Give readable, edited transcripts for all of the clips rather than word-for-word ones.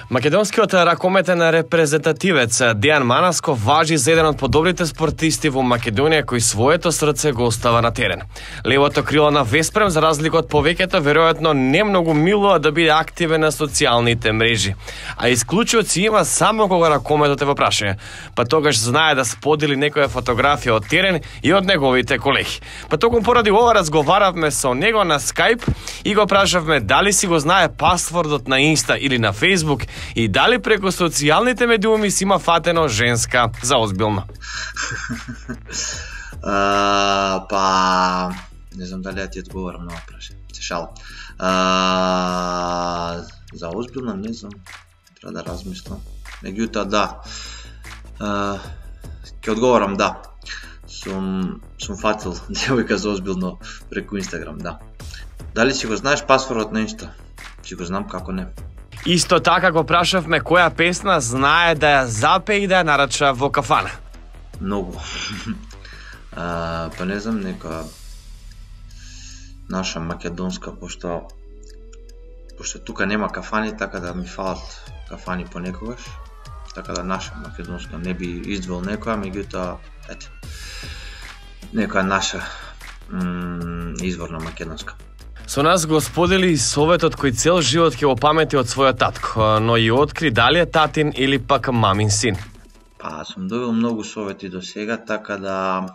Македонскиот ракометен репрезентативец Дејан Манасков важи за еден од подобрите спортисти во Македонија кој своето срце го остава на терен. Левото крило на Веспрем, за разлика од повеќето, веројатно не многу милува да биде активен на социјалните мрежи. А исклучоци има само кога ракометот е во прашање. Па тогаш знае да сподели некоја фотографија од терен и од неговите колеги. Па токму поради ова разговаравме со него на Skype и го прашавме дали си го знае пасвордот на Инста или на Фейсбук и дали преку социјалните медиуми си има фатено женска за озбилно. Па не знам дали ја ти одговорам на ова прашање. Се шалам. За озбилно не знам. Треба да размислам. Меѓутоа да. Ќе одговорам да. Сум фатил девојка за озбилно преку Инстаграм, да. Дали си го знаеш пасвордот на Инста? Си го знам, како не. Исто така го прашавме која песна знае да ја запее и да ја нарача во кафана. Многу. Па не знам, нека наша македонска, пошто тука нема кафани, така да ми фалат кафани понекогаш. Така да наша македонска не би издвоил некоја, меѓутоа, ете, некоја наша изворна македонска. Со нас го сподели и советот кој цел живот ќе го памети од својот татко, но и откри дали е татин или пак мамин син. Па, сум добил многу совети до сега, така да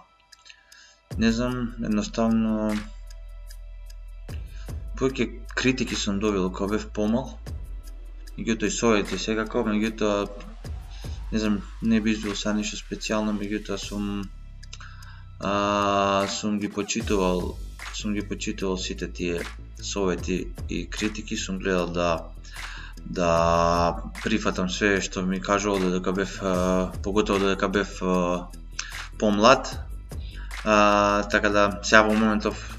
не знам, едноставно повеќе критики сум добил кога бев помал. Меѓутоа и совети секако, меѓутоа не знам, не би извил са ништо специјално, меѓутоа сум ги почитувал сите тие совети и критики, сум гледал да прифатам све што ми кажувал додека бев, поготово додека бев помлад. Така да сега во моментов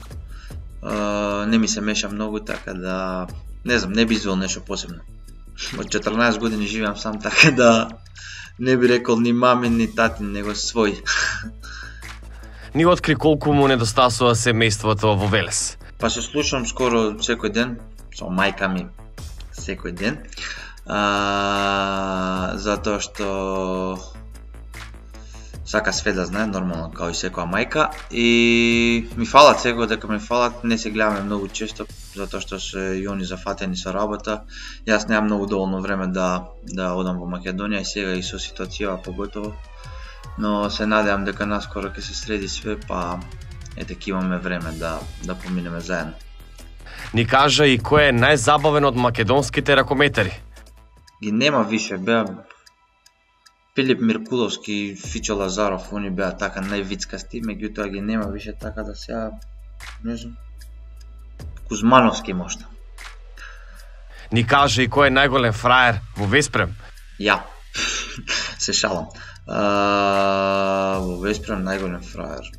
не ми се меша многу, така да не знам, не би извел нешто посебно. Од 14 години живеам сам, така да не би рекол ни мамин ни татин, него свој. Ни откри колку му недостасува семејството во Велес. Па се слушам скоро секој ден, со мајка ми секој ден, затоа што сака све да знае, нормално, као и секоја мајка, и ми фалат секој дека ми фалат, не се гледаме многу често, затоа што се и они зафатени со работа. Јас немам многу доволно време да одам во Македонија и сега и со ситуацијава поготово, но се надевам дека наскоро ќе се среди све, па ете ќе имаме време да поминеме заедно. Ни кажа и кој е најзабавен од македонските ракометари? Ги нема више, беа Филип Миркуловски, Фичо Лазаров, они беа така највицкасти, меѓутоа ги нема више, така да сега не знам. Кузмановски можда. Ни кажа и кој е најголем фраер во Веспрем? Ја. Се шалам. Во Веспрем најголем фраер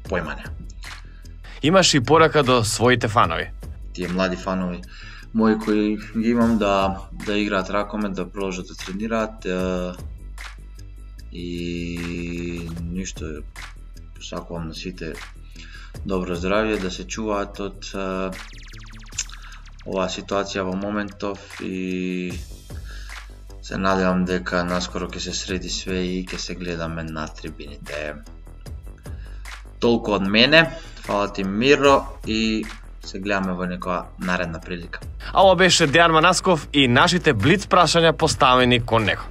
појмање. Имаш и порака до своите фанови? Тие млади фанови мои кои ги имам да играат ракомет, да продолжат да тренираат и ништо, посакувам на сите добро здравје, да се чуваат од оваа ситуација во моментов и се надевам дека наскоро ќе се среди све и ќе се гледаме на трибините. Толку од мене, фала ти Миро и се гледаме во некоја наредна прилика. А ова беше Дејан Манасков и нашите блиц прашања поставени кон него.